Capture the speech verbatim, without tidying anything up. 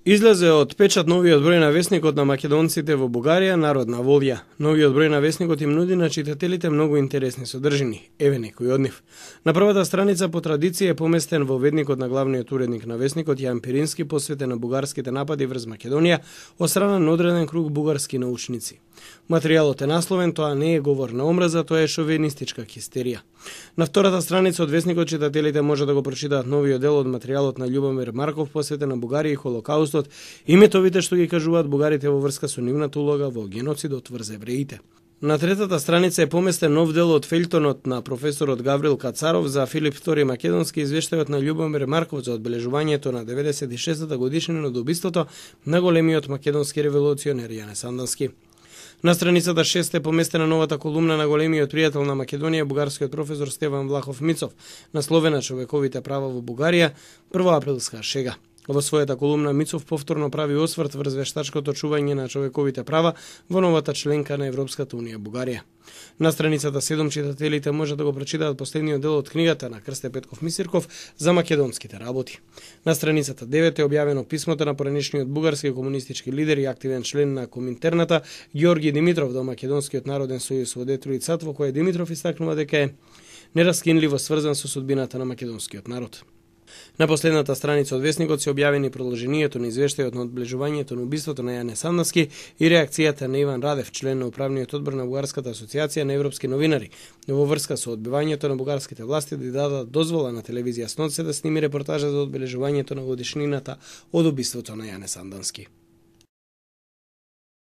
Излезе од печат новиот број на весникот на македонците во Бугарија, Народна волја. Новиот број на весникот им нуди на читателите многу интересни содржини. Еве некои од нив. На првата страница по традиција е поместен во ведникот на главниот уредник на весникот Јан Пирински, посветен на бугарските напади врз Македонија од страна на одреден круг бугарски научници. Материјалот е насловен "Тоа не е говор на омраза, тоа е шовинистичка хистерија". На втората страница од весникот читателите може да го прочитаат новиот дел од материјалот на Љубомир Марков, посветен на Бугарија и Холокаустот и метовите што ги кажуваат бугарите во врска со нивната улога во геноцидот врз евреите. На третата страница е поместен нов дел од фејлтонот на професорот Гаврил Кацаров за Филип втори Македонски, извештајот на Љубомир Марков за одбележувањето на деветдесет и шестата годишнина од убиството на големиот македонски револуционер Јане Сандански. На страницата шест е поместена новата колумна на големиот пријател на Македонија, бугарскиот професор Стеван Влахов Мицов, насловена "Човековите права во Бугарија, првоаприлска шега". Во својата колумна Мицов повторно прави осврт врз вештачкото чување на човековите права во новата членка на Европската унија Бугарија. На страницата седум читателите може да го прочитаат последниот дел од книгата на Крсте Петков Мисирков за македонските работи. На страницата девет е објавено писмото на поранешниот бугарски комунистички лидер и активен член на Коминтерната Ѓорги Димитров до Македонскиот народен сојуз во Детройт САД, во кој Димитров истакнува дека е нераскинливо сврзан со судбината на македонскиот народ. На последната страница од весникот се објавени продолжението на извештајот на одближувањето на убиството на Јане Сандански и реакцијата на Иван Радев, член на управниот одбор на Бугарската асоциација на европски новинари, во врска со одбивањето на бугарските власти да дадат дозвола на телевизија Снот се да сними репортажа за одбележувањето на годишнината од убиството на Јане Сандански.